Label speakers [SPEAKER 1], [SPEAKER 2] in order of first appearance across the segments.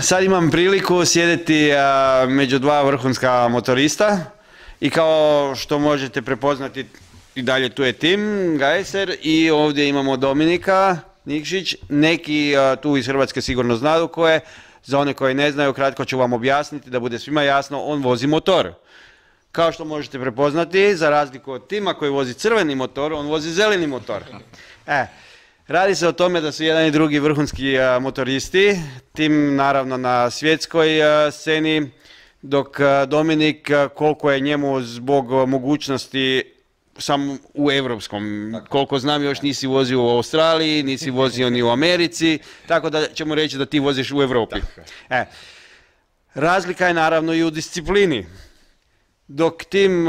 [SPEAKER 1] sad imam priliku sjediti među dva vrhunska motorista i kao što možete prepoznati i dalje tu je Tim Gajser i ovdje imamo Dominika Nikšić. Neki tu iz Hrvatske sigurno znaju ko je, za one koji ne znaju kratko ću vam objasniti da bude svima jasno, on vozi motor. Kao što možete prepoznati, za razliku od Tima koji vozi crveni motor, on vozi zeleni motor. Radi se o tome da su jedan i drugi vrhunski motoristi, Tim naravno na svjetskoj sceni, dok Dominik koliko je njemu zbog mogućnosti sam u evropskom, koliko znam još nisi vozio u Australiji, nisi vozio ni u Americi, tako da ćemo reći da ti voziš u Europi. Razlika je naravno i u disciplini. Dok Tim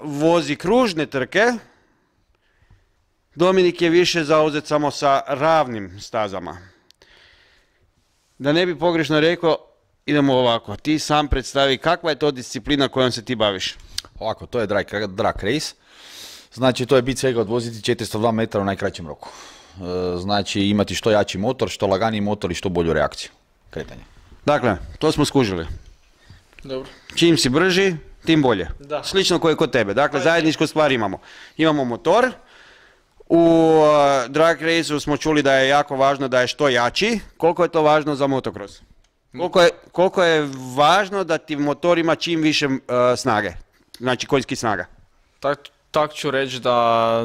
[SPEAKER 1] vozi kružne trke, Dominik je više zauzet samo sa ravnim stazama. Da ne bi pogrešno rekao, idemo ovako. Ti sam predstavi kakva je to disciplina kojom se ti baviš.
[SPEAKER 2] Ovako, to je drag race. Znači, to je bit svega odvoziti 402 metara u najkraćem roku. Znači, imati što jači motor, što laganiji motor i što bolju reakciju kretanja.
[SPEAKER 1] Dakle, to smo skužili.
[SPEAKER 3] Dobro.
[SPEAKER 1] Čim si brži, tim bolje.
[SPEAKER 3] Da.
[SPEAKER 1] Slično koje kod tebe. Dakle, zajedničku stvar imamo. Imamo motor. U drag raceu smo čuli da je jako važno da je što jači. Koliko je to važno za motocross? Koliko je važno da ti motor ima čim više snage? Znači konjskih snaga.
[SPEAKER 3] Tak ću reći da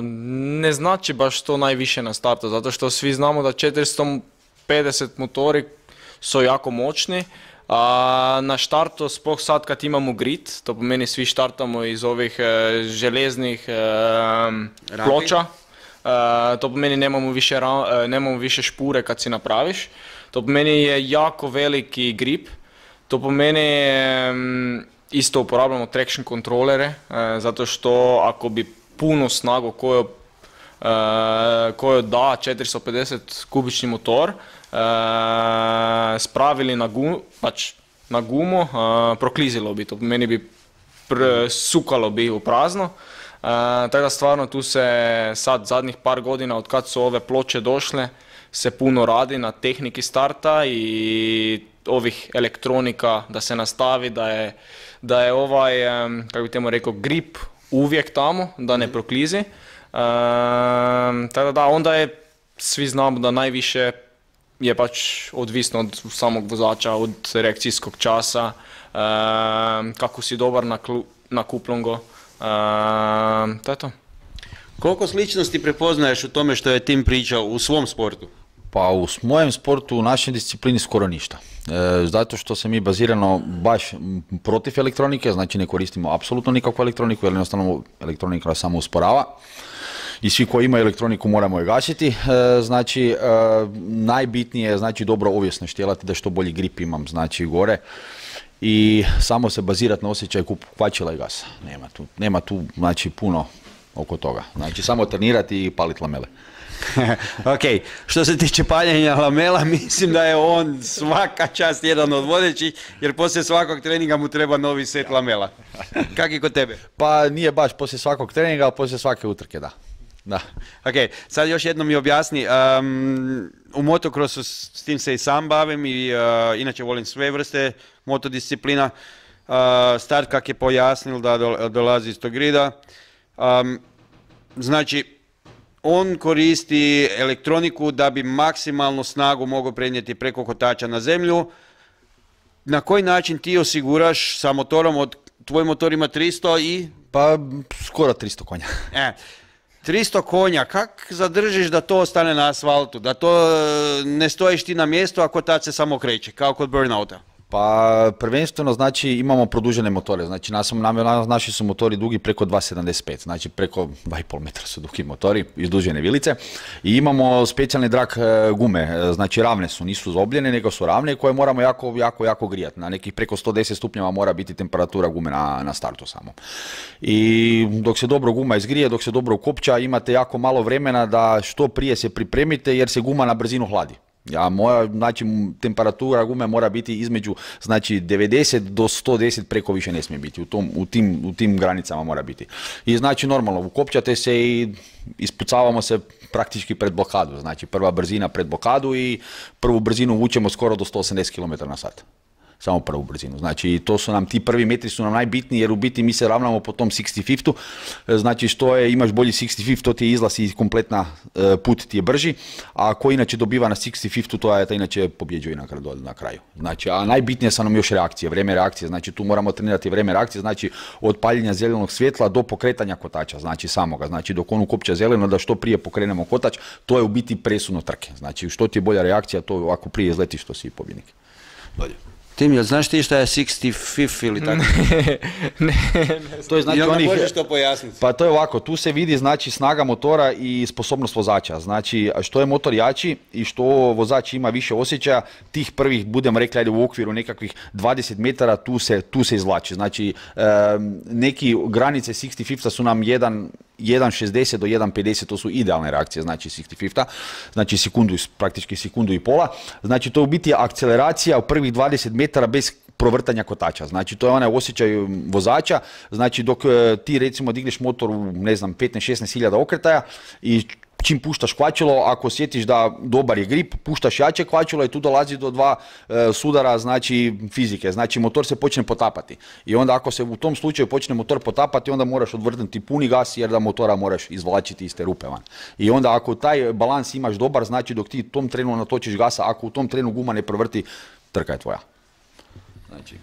[SPEAKER 3] ne znači baš to najviše na startu, zato što svi znamo da 450 motori su jako moćni, a na štartu, sploh sad kad imamo grid, to po meni svi štartamo iz ovih železnih ploča, to po meni nemamo više špure kad si napraviš, to po meni je jako veliki grip, to po meni isto uporabljamo traction kontrolere, zato što ako bi puno snagu koju da 450 kubični motor spravili na gumu, proklizilo bi to, meni bi sukalo bi u prazno. Tako da stvarno tu se sad zadnjih par godina od kad su ove ploče došle se puno radi na tehniki starta i ovih elektronika da se nastavi, da je ovaj, kako bi temo rekao, grip uvijek tamo, da ne proklizi. Tako da onda je, svi znamo da najviše je pač odvisno od samog vozača, od reakcijskog časa, kako si dobar na kuplongo, to je to.
[SPEAKER 1] Koliko sličnosti prepoznaješ u tome što je Tim pričao u svom sportu?
[SPEAKER 2] Pa u mojem sportu, u našoj disciplini skoro ništa. Zato što se mi bazirano baš protiv elektronike, znači ne koristimo apsolutno nikakvu elektroniku, jer jednostavno elektronika samo usporava. I svi koji imaju elektroniku moramo je gasiti. Znači, najbitnije je znači dobro ovisno štjelati da što bolji grip imam, znači gore. I samo se bazirati na osjećaj kvačila i gasa. Nema tu znači puno oko toga. Znači samo trenirati i paliti lamele.
[SPEAKER 1] Ok, što se tiče paljenja lamela, mislim da je on svaka čast jedan od vodećih, jer poslije svakog treninga mu treba novi set lamela. Kak je kod tebe?
[SPEAKER 2] Pa nije baš poslije svakog treninga, ali poslije svake utrke, da.
[SPEAKER 1] Ok, sad još jednom mi objasni, u motocrossu s tim se i sam bavim i inače volim sve vrste motodisciplina. Start kak je pojasnil da dolazi iz tog grida, znači on koristi elektroniku da bi maksimalnu snagu mogao prenijeti preko kotača na zemlju. Na koji način ti osiguraš sa motorom, tvoj motor ima 300 i...
[SPEAKER 2] Pa skoro 300 konja.
[SPEAKER 1] 300 konja, kak zadržiš da to ostane na asfaltu, da to ne stojiš ti na mjestu ako tad se samo kreće, kao kod burnouta?
[SPEAKER 2] Pa prvenstveno znači imamo produžene motore, znači naši su motori dugi preko 2,75, znači preko 2,5 metra su dugi motori, izdužene vilice i imamo specijalne drag gume, znači ravne su, nisu zobljene nego su ravne koje moramo jako grijati, na nekih preko 110 stupnjeva mora biti temperatura gume na startu samo. I dok se dobro guma izgrije, dok se dobro ukopča, imate jako malo vremena da što prije se pripremite jer se guma na brzinu hladi. Znači, temperatura gume mora biti između, znači, 90 do 110, preko više ne smije biti, u tim granicama mora biti. I znači, normalno, ukopčate se i ispucavamo se praktički pred blokadu, znači prva brzina pred blokadu i prvu brzinu vučemo skoro do 180 km/h. Samo prvu brzinu. Znači, to su nam, ti prvi metri su nam najbitniji, jer u biti mi se ravnamo po tom 65-u. Znači, imaš bolji 65, to ti je izlaz i kompletna put ti je brži, a ko inače dobiva na 65-u, to je inače pobjeđuje na kraju. Znači, a najbitnije su nam još reakcije, vrijeme reakcije, znači tu moramo trenirati vrijeme reakcije, znači od paljenja zelenog svjetla do pokretanja kotača, znači samoga, znači dok on ukopča zeleno, da što prije pokrenemo kotač, to je u biti presudno trke. Znači, što ti je bolja reakcija, to ako prije izletiš, to si pobjednik. Dolje.
[SPEAKER 1] Tim, jel znaš ti šta je 65 ili tako?
[SPEAKER 3] Ne.
[SPEAKER 2] To je, znači,
[SPEAKER 1] I onda možeš to pojasniti.
[SPEAKER 2] Pa to je ovako, tu se vidi, znači, snaga motora i sposobnost vozača. Znači, što je motor jači i što vozač ima više osjećaja, tih prvih, budemo rekli, ajde, u okviru nekakvih 20 metara tu se izvlači. Znači, neki granice 65 su nam 1.60 do 1.50, to su idealne reakcije, znači 65, znači praktički sekundu i pola. Znači, to je u biti akceleracija u prvih 20 metara bez provrtanja kotača. Znači, to je onaj osjećaj vozača, znači dok ti recimo digneš motor u, ne znam, 15-16 hiljada okretaja i čim puštaš kvačilo, ako osjetiš da dobar je grip, puštaš jače kvačilo i tu dolazi do dva sudara, znači fizike, znači motor se počne potapati. I onda ako se u tom slučaju počne motor potapati, onda moraš odvrnuti puni gas jer da motora moraš izvlačiti iz te rupe van. I onda ako taj balans imaš dobar, znači dok ti u tom trenu natočiš gasa, ako u tom trenu guma ne provrti, trka je tvoja. Znači.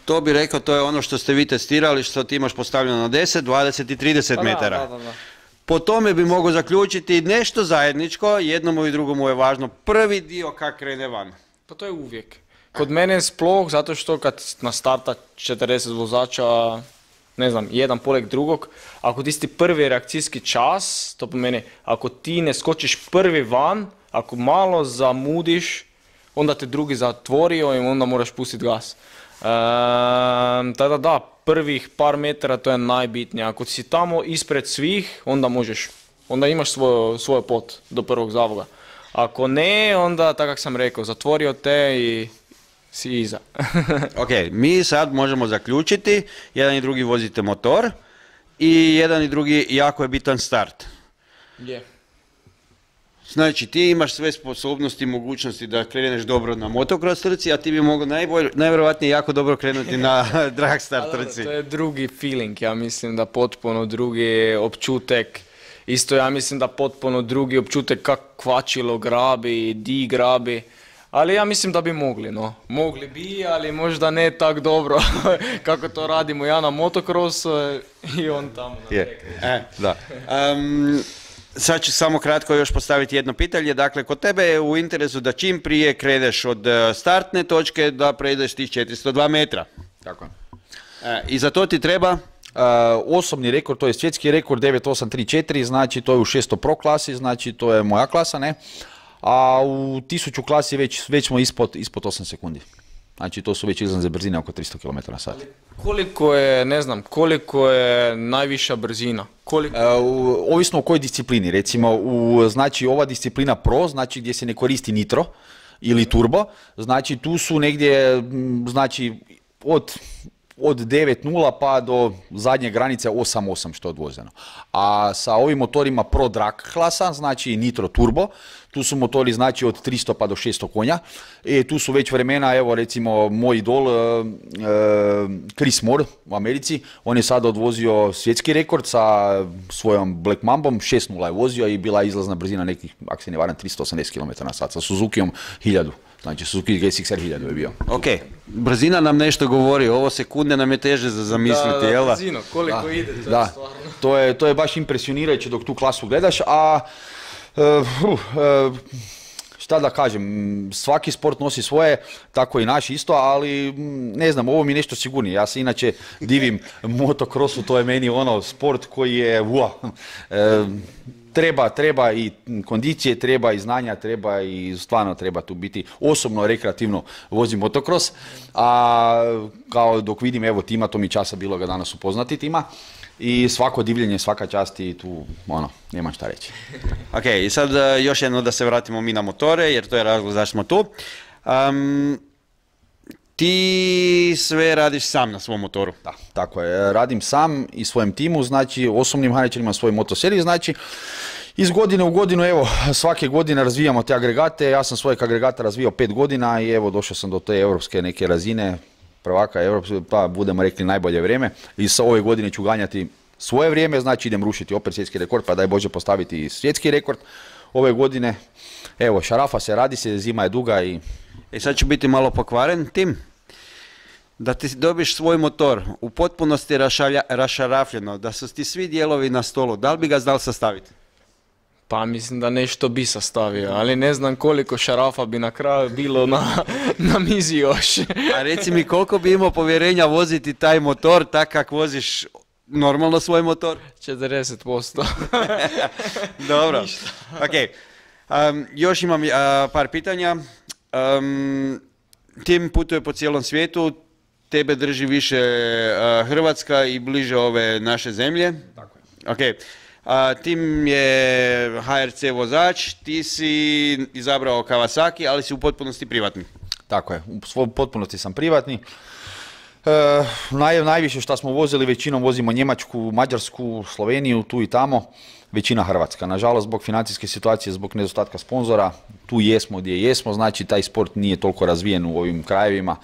[SPEAKER 1] To bi rekao, to je ono što ste vi testirali, što ti imaš postavljeno na 10, 20 i 30 metara.
[SPEAKER 3] Da.
[SPEAKER 1] Po tome bi mogao zaključiti nešto zajedničko, jednomu i drugomu je važno prvi dio kak krene van.
[SPEAKER 3] Pa to je uvijek. Kod mene sploh, zato što kad na starta 40 vozača, ne znam, jedan poleg drugog, ako ti si prvi reakcijski čas, to po meni, ako ti ne skočiš prvi van, ako malo zamudiš, onda te drugi zatvorio i onda moraš pustiti gas. Tada da, prvih par metara to je najbitnije. Ako si tamo ispred svih, onda imaš svoj pot do prvog zavoga. Ako ne, onda, tako kako sam rekao, zatvorio te i si iza.
[SPEAKER 1] Ok, mi sad možemo zaključiti, jedan i drugi vozite motor i jedan i drugi jako je bitan start.
[SPEAKER 3] Je.
[SPEAKER 1] Znači, ti imaš sve sposobnosti i mogućnosti da kreneš dobro na motocross trci, a ti bi mogao najvjerojatnije jako dobro krenuti na dragstar trci.
[SPEAKER 3] To je drugi feeling, ja mislim da potpuno drugi opčutek. Isto ja mislim da potpuno drugi opčutek kak kvačilo grabi, di grabi. Ali ja mislim da bi mogli, no. Mogli bi, ali možda ne tak dobro kako to radimo ja na motocrossu i on tamo na
[SPEAKER 2] Da.
[SPEAKER 1] Sad ću samo kratko još postaviti jedno pitanje. Dakle, kod tebe je u interesu da čim prije kreneš od startne točke da prejdeš tih 402 metra.
[SPEAKER 2] Tako je.
[SPEAKER 1] I za to ti treba?
[SPEAKER 2] Osobni rekord, to je svjetski rekord 9834, znači to je u 600 Pro klasi, znači to je moja klasa, ne? A u 1000 klasi već smo ispod 8 sekundi. Znači to su već izlazne brzine oko 300 km/h.
[SPEAKER 3] Koliko je najviša brzina?
[SPEAKER 2] Ovisno o kojoj disciplini, recimo znači ova disciplina Pro, znači gdje se ne koristi nitro ili turbo, znači tu su negdje, znači od 9.0 pa do zadnje granice 8.8 što je odvozeno. A sa ovim motorima Pro Drag klasa, znači Nitro Turbo, tu su motori znači od 300 pa do 600 konja. Tu su već vremena, evo recimo moj idol Chris Moore u Americi, on je sada odvozio svjetski rekord sa svojom Black Mambom, 6.0 je vozio i bila izlazna brzina nekih, ako se ne varam, 380 km/h sa Suzukijom 1000. Znači Suzuki GSX-R 1000 je bio.
[SPEAKER 1] Ok, brzina nam nešto govori, ovo sekunde nam je teže za zamisliti, jel da?
[SPEAKER 3] Brzino, koliko ide, to je stvarno.
[SPEAKER 2] To je baš impresionirajuće dok tu klasu gledaš, a šta da kažem, svaki sport nosi svoje, tako i naš isto, ali ne znam, ovo mi je nešto sigurnije. Ja se inače divim motocrossu, to je meni ono sport koji je treba i kondicije, treba i znanja, treba i stvarno treba tu biti. Osobno, rekreativno vozim motocross, a kao dok vidim, evo Tima, to mi časa bilo ga danas upoznati Tima, i svako divljenje, svaka čast i tu, nema šta reći.
[SPEAKER 1] Ok, i sad još jedno da se vratimo mi na motore, jer to je razlog zašto smo tu. Ti sve radiš sam na svom motoru.
[SPEAKER 2] Da, tako je. Radim sam i svojem timu, znači osobnim mehaničarima svoj motoseriji, znači iz godine u godinu, evo, svake godine razvijamo te agregate. Ja sam svojeg agregata razvijao 5 godina i evo, došao sam do te europske neke razine, prvaka europske, pa budemo rekli najbolje vrijeme. I sa ove godine ću ganjati svoje vrijeme, znači idem rušiti opet svjetski rekord, pa daj Bože postaviti i svjetski rekord ove godine. Evo, šarafa se, radi se, zima je duga i...
[SPEAKER 1] Sad ću biti malo pokvaren, Tim. Da ti dobiš svoj motor u potpunosti rašarafljeno, da su ti svi dijelovi na stolu, da li bi ga znal sastaviti?
[SPEAKER 3] Pa mislim da nešto bi sastavio, ali ne znam koliko šarafa bi na kraju bilo na mizi još.
[SPEAKER 1] A reci mi koliko bi imao povjerenja voziti taj motor tak kak voziš normalno svoj motor?
[SPEAKER 3] 40%.
[SPEAKER 1] Dobro, ok. Još imam par pitanja. Tim putuje po cijelom svijetu, tebe drži više Hrvatska i bliže ove naše zemlje.
[SPEAKER 2] Tako je.
[SPEAKER 1] Ok. Tim je HRC vozač, ti si izabrao Kawasaki, ali si u potpunosti privatni.
[SPEAKER 2] Tako je, u potpunosti sam privatni. Najviše što smo vozili, većinom vozimo Njemačku, Mađarsku, Sloveniju, tu i tamo, većina Hrvatska. Nažalost, zbog financijske situacije, zbog nedostatka sponzora, tu jesmo gdje jesmo, znači taj sport nije toliko razvijen u ovim krajevima,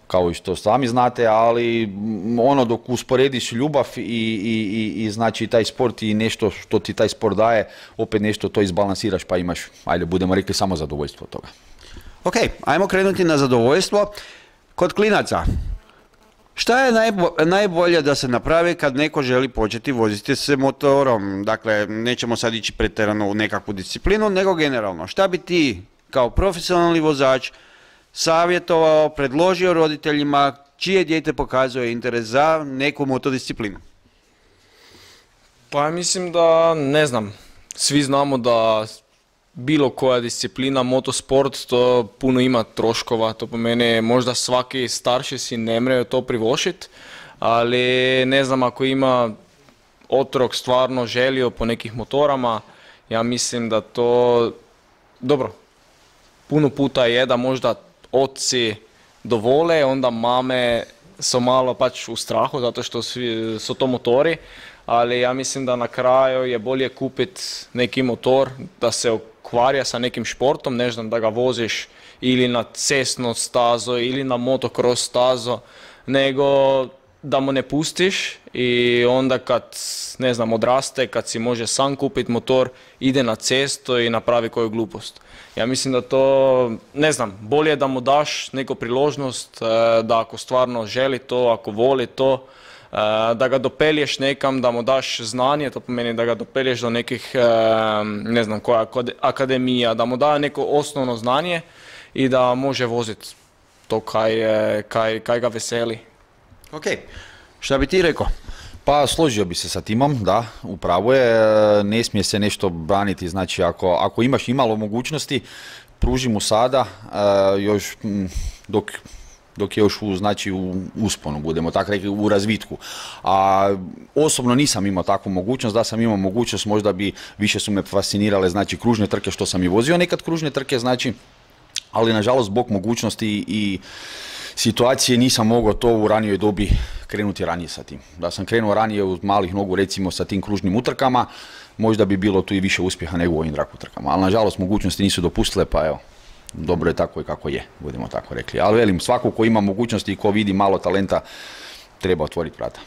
[SPEAKER 2] kao i što sami znate, ali dok usporediš ljubav i znači taj sport i nešto što ti taj sport daje, opet nešto to izbalansiraš pa imaš, ajde budemo rekli, samo zadovoljstvo od toga.
[SPEAKER 1] Ok, ajmo krenuti na zadovoljstvo. Kod klinaca, šta je najbolje da se napravi kad neko želi početi voziti se motorom? Dakle, nećemo sad ići pretjerano u nekakvu disciplinu, nego generalno. Šta bi ti kao profesionalni vozač savjetovao, predložio roditeljima čije dijete pokazuje interes za neku motodisciplinu?
[SPEAKER 3] Pa mislim da, ne znam, svi znamo da bilo koja disciplina, motosport, to puno ima troškova, to po mene možda svaki starši si ne mreju to privošiti, ali ne znam, ako ima otrok stvarno želio po nekih motorama, ja mislim da to, dobro, puno puta je da možda oci dovole, onda mame su malo pač u strahu zato što su to motori, ali ja mislim da na kraju je bolje kupiti neki motor da se okvarja sa nekim športom, ne znam, da ga voziš ili na cestnu stazu ili na motocross stazu, nego da mu ne pustiš i onda kad, ne znam, odraste, kad si može sam kupiti motor, ide na cestu i napravi koju glupost. Ja mislim da to, ne znam, bolje da mu daš neku priložnost, da ako stvarno želi to, ako voli to, da ga dopelješ nekam, da mu daš znanje, to pomeni da ga dopelješ do nekih, ne znam koja akademija, da mu da neko osnovno znanje i da može voziti to kaj ga veseli.
[SPEAKER 1] Ok, šta bi ti rekao?
[SPEAKER 2] Pa složio bi se sa Timom, da, upravo je, ne smije se nešto braniti, znači ako imaš imalo mogućnosti, pruži mu sada, još dok je još u usponu, budemo tako rekli, u razvitku. A osobno nisam imao takvu mogućnost, da sam imao mogućnost, možda bi više su me fascinirale, znači kružne trke, što sam i vozio nekad kružne trke, znači, ali nažalost zbog mogućnosti i situacije nisam mogao to u ranijoj dobi krenuti ranije sa tim. Da sam krenuo ranije uz malih nogu, recimo sa tim kružnim utrkama, možda bi bilo tu i više uspjeha nego u ovim drag utrkama, ali nažalost mogućnosti nisu dopustile, pa evo, dobro je tako i kako je, budemo tako rekli. Ali velim, svako ko ima mogućnosti i ko vidi malo talenta, treba otvoriti vrata.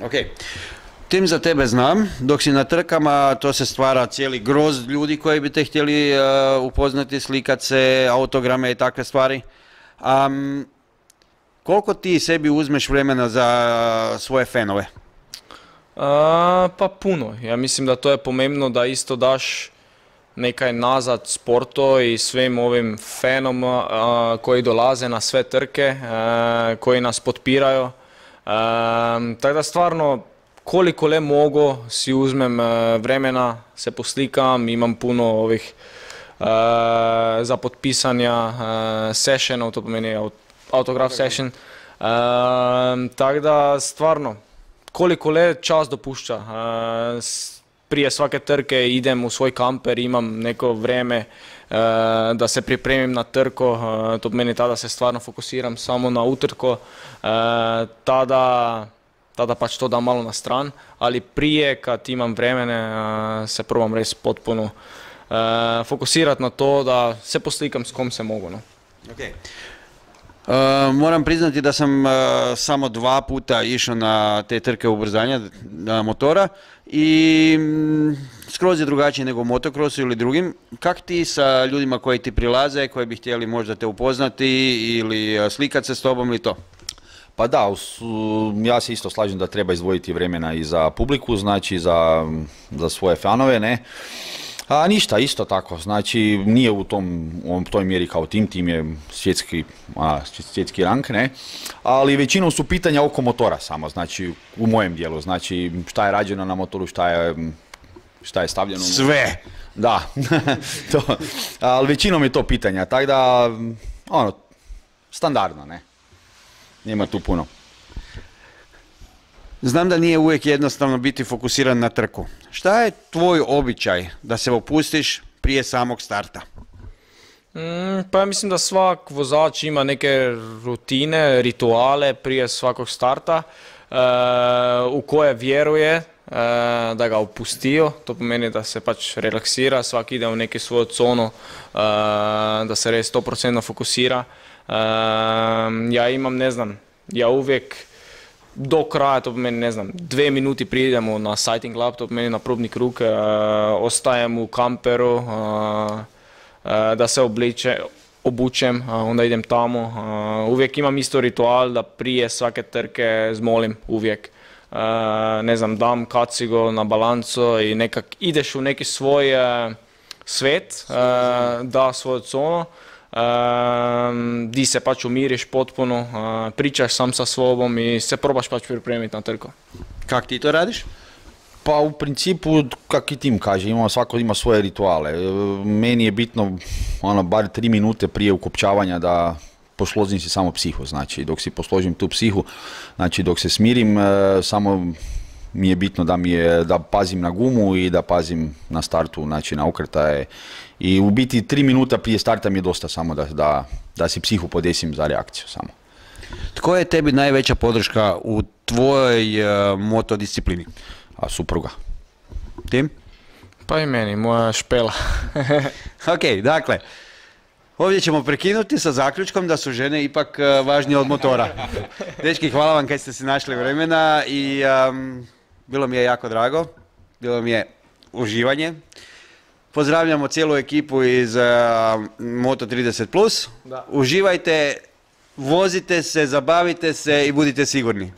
[SPEAKER 1] Ok. Tim, za tebe znam, dok si na trkama, to se stvara cijeli grozd ljudi koji bi te htjeli upoznati, slikat se, autograme i takve stvari. Koliko ti sebi uzmeš vremena za svoje fanove?
[SPEAKER 3] Pa puno. Ja mislim da to je pomembno da isto daš nekaj nazad sportu i svim ovim fanom koji dolaze na sve trke, koji nas potpiraju. Tako da stvarno, koliko le mogu si uzmem vremena, se poslikam, imam puno ovih za potpisanja sessionov, to pomeni autograf session. Tako da stvarno, koliko le čas dopušča. Prije svake trke idem u svoj kamper, imam neko vrijeme da se pripremim na trko, to meni tada se stvarno fokusiram samo na utrko, tada pač to dam malo na stran, ali prije kad imam vremene se probam res potpuno fokusirati na to da se poslikam s kom se mogu. No.
[SPEAKER 1] Okay. Moram priznati da sam samo 2 puta išao na te trke ubrzanja motora i skroz je drugačije nego u motokrosu ili drugim. Kak ti sa ljudima koji ti prilaze, koji bi htjeli možda te upoznati ili slikat se s tobom ili to?
[SPEAKER 2] Pa da, ja se isto slažem da treba izdvojiti vremena i za publiku, znači za svoje fanove, ne. A ništa, isto tako, znači nije u toj mjeri kao tim je svjetski rang, ne, ali većinom su pitanja oko motora samo, znači u mojem dijelu, znači šta je rađeno na motoru, šta je stavljeno.
[SPEAKER 1] Sve!
[SPEAKER 2] Da, ali većinom je to pitanja, tako da, standardno, ne, nema tu puno.
[SPEAKER 1] Znam da nije uvijek jednostavno biti fokusiran na trku. Šta je tvoj običaj da se opustiš prije samog starta?
[SPEAKER 3] Pa ja mislim da svak vozač ima neke rutine, rituale prije svakog starta u koje vjeruje da ga opustio. To pomeni da se pač relaksira, svak ide u neki svoju zonu, da se res 100% fokusira. Ja imam, ne znam, ja uvijek do kraja, to meni, ne znam, 2 minuti prije idemo na sighting lap, to meni na probni krug, ostajem u kamperu, da se obučem, onda idem tamo. Uvijek imam isto ritual da prije svake trke zmolim uvijek. Ne znam, dam kacigo na balanco i nekak ideš u neki svoj svet, da svoju zonu. Di se pač umiriš potpuno, pričaš sam sa sobom i se probaš pač pripremiti na trko.
[SPEAKER 1] Kak ti to radiš?
[SPEAKER 2] Pa u principu, kak i tim kaže, svako ima svoje rituale. Meni je bitno bar 3 minute prije ukopčavanja da posložim si samo psihu, znači dok si posložim tu psihu, znači dok se smirim, samo mi je bitno da pazim na gumu i da pazim na startu, znači na okretaje. I u biti 3 minuta prije starta mi je dosta samo da si psihu podesim za reakciju samo.
[SPEAKER 1] Tko je tebi najveća podrška u tvojoj motodisciplini?
[SPEAKER 2] Supruga.
[SPEAKER 1] Tim?
[SPEAKER 3] Pa i meni, moja špela.
[SPEAKER 1] Ok, dakle, ovdje ćemo prekinuti sa zaključkom da su žene ipak važnije od motora. Dečki, hvala vam kad ste si našli vremena i bilo mi je jako drago, bilo mi je uživanje. Pozdravljamo cijelu ekipu iz Moto 30+. Da. Uživajte, vozite se, zabavite se i budite sigurni.